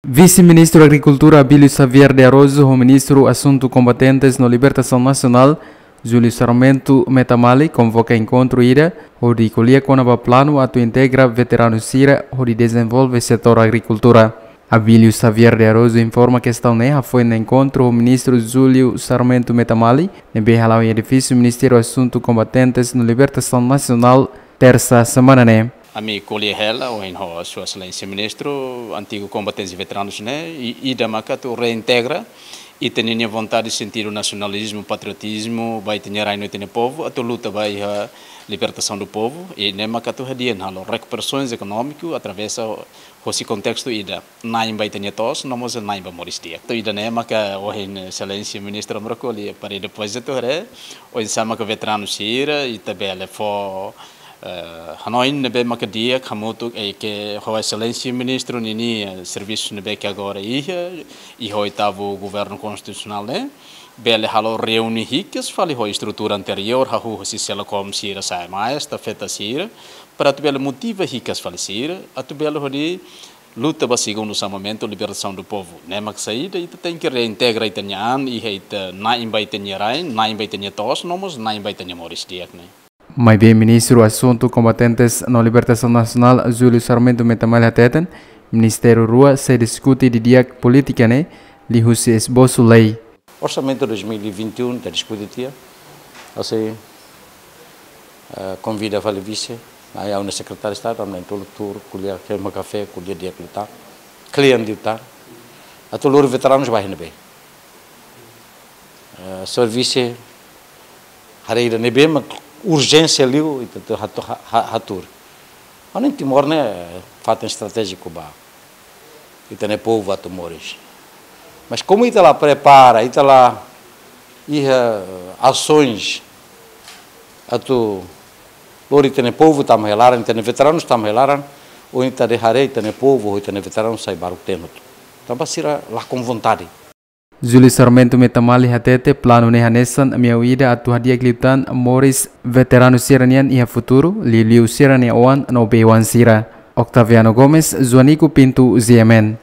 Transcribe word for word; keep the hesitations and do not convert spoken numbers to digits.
Vise-Ministru Agrikultura Abílio Xavier de Araújo ho Ministru Asuntu Kombatentes no Libertasaun Nasionál, Júlio Sarmento Metamali, konvoka enkontru ida hodi ko'alia kona-ba planu atu integra veteranu sira hodi dezenvolve setór agrikultura. Abílio Xavier de Araújo informa kestaun ne'e hafoin enkontru ho Ministru Júlio Sarmento Metamali, ne'ebé hala'o iha edifísiu Ministériu Asuntu Kombatentes no Libertasaun Nasionál, tersa semana ne'e. Ami ko'alia hela ohin ho Sua Exelénsia Ministru, antigu kombatentes veteranus ne'e, i ida maka atu reintegra ita-nia vontade, sentidu nasionalizmu, patriotizmu ba ita-nia rain no ita-nia povu, atu luta ba iha libertasaun do povu, i ne'e maka atu hadi'a halo rekuperasaun ekonómiku através hosi kontestu ida, na'in ba ita-nia to'os, no mós na'in ba moris di'ak. Atu ida-ne'e maka ohin Exelénsia Ministru hamriik ko'alia, para depois atu haree oinsá maka veteranu sira, ita bele fó, eh, hanoin ne'ebé maka di'ak hamutuk, eh, ho Exelénsia Ministru ninia, eh, servisu ne'ebé ke agora iha, iha oitavu governu konstitusionál ne'e, bele halo reúne hikas fali ho estrutura anteriór, hahú hosi SELACOM sira, SAEMAES, estafeta sira, para atu bele motiva hikas fali sira, atu bele hodi luta ba segundu xamamentu libertasaun do povu. Ne'e mak saida, ita tenke reintegra ita-nia an, iha ita na'in ba ita-nia rain, na'in ba ita-nia to'os, no mós na'in ba ita-nia moris di'ak ne'e. Maibé Ministru Asuntu Kombatentes no Libertasaun Nasionál, Júlio Sarmento Metamali hateten, ministériu rua sei diskute didi'ak polítika ne'e liuhusi esbosu lei. Orsamentu dois mil e vinte e um ita diskute tiha, hanesan, eh, konvida fali vise, ha'u-nia sekretáriu Estadu, ami na'in-tolu tuur, ko'alia, hemu kafé, ko'alia di'ak liután, kle'an liután, atu lori veteranus ba iha ne'ebé. Eh, servisu haree ida ne'ebé mak urjénsia liu, ita atu hatu-, ha-, ha-, hatuur. Ha'u hanoin Timor ne'e, eh, fatin estratéjiku ba ita-nia povu atu moris. Mas komu ita la prepara, ita la iha, eh, asoens atu lori ita-nia povu tama iha laran, ita-nia veteranus tama iha laran, ohin ita haree ita-nia povu, ita-nia veteranus sai baruk-teen hotu. Tanba sira lakon vontade. Júlio Sarmento Metamali hatete planu ne'e hanesan meiu ida atu hadi'ak liután moris veteranu sira-nian iha futuru, liuliu sira-nia oan no bei-oan sira. Octaviano Gomes, Joanico Pinto, G M N.